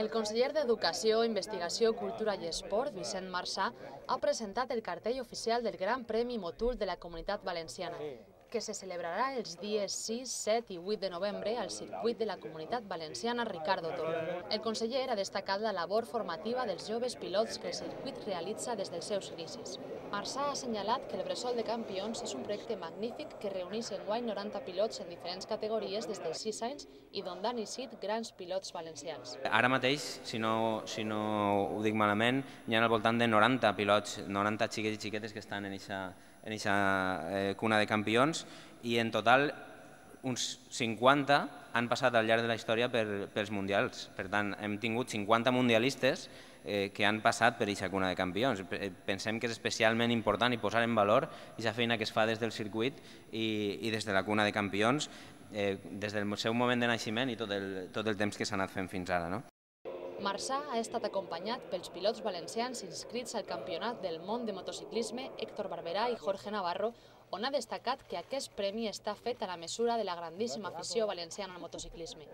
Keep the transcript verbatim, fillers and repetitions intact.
El conseller d'Educació, Investigació, Cultura i Esport, Vicent Marsà, ha presentat el cartell oficial del Gran Premi Motul de la Comunitat Valenciana, que se celebrarà els dies sis, set i vuit de novembre al circuit de la Comunitat Valenciana Ricardo Toro. El conseller ha destacat la labor formativa dels joves pilots que el circuit realitza des dels seus inicis. Marsà ha assenyalat que el Bressol de Campions és un projecte magnífic que reuneix enguany noranta pilots en diferents categories des dels sis anys i d'on han eixit grans pilots valencians. Ara mateix, si no, si no ho dic malament, hi ha al voltant de noranta pilots, noranta xiquets i xiquetes que estan en aquesta en aquesta eh, cuna de campions, i en total uns cinquanta han passat al llarg de la història per, pels mundials. Per tant, hem tingut cinquanta mundialistes eh, que han passat per aquesta cuna de campions. Pensem que és especialment important i posar en valor aquesta feina que es fa des del circuit i, i des de la cuna de campions, eh, des del seu moment de naixement i tot el, tot el temps que s'ha anat fent fins ara, no? Marsà ha estat acompanyat pels pilots valencians inscrits al Campionat del Món de Motociclisme Héctor Barberà i Jorge Navarro, on ha destacat que aquest premi està fet a la mesura de la grandíssima afició valenciana al motociclisme.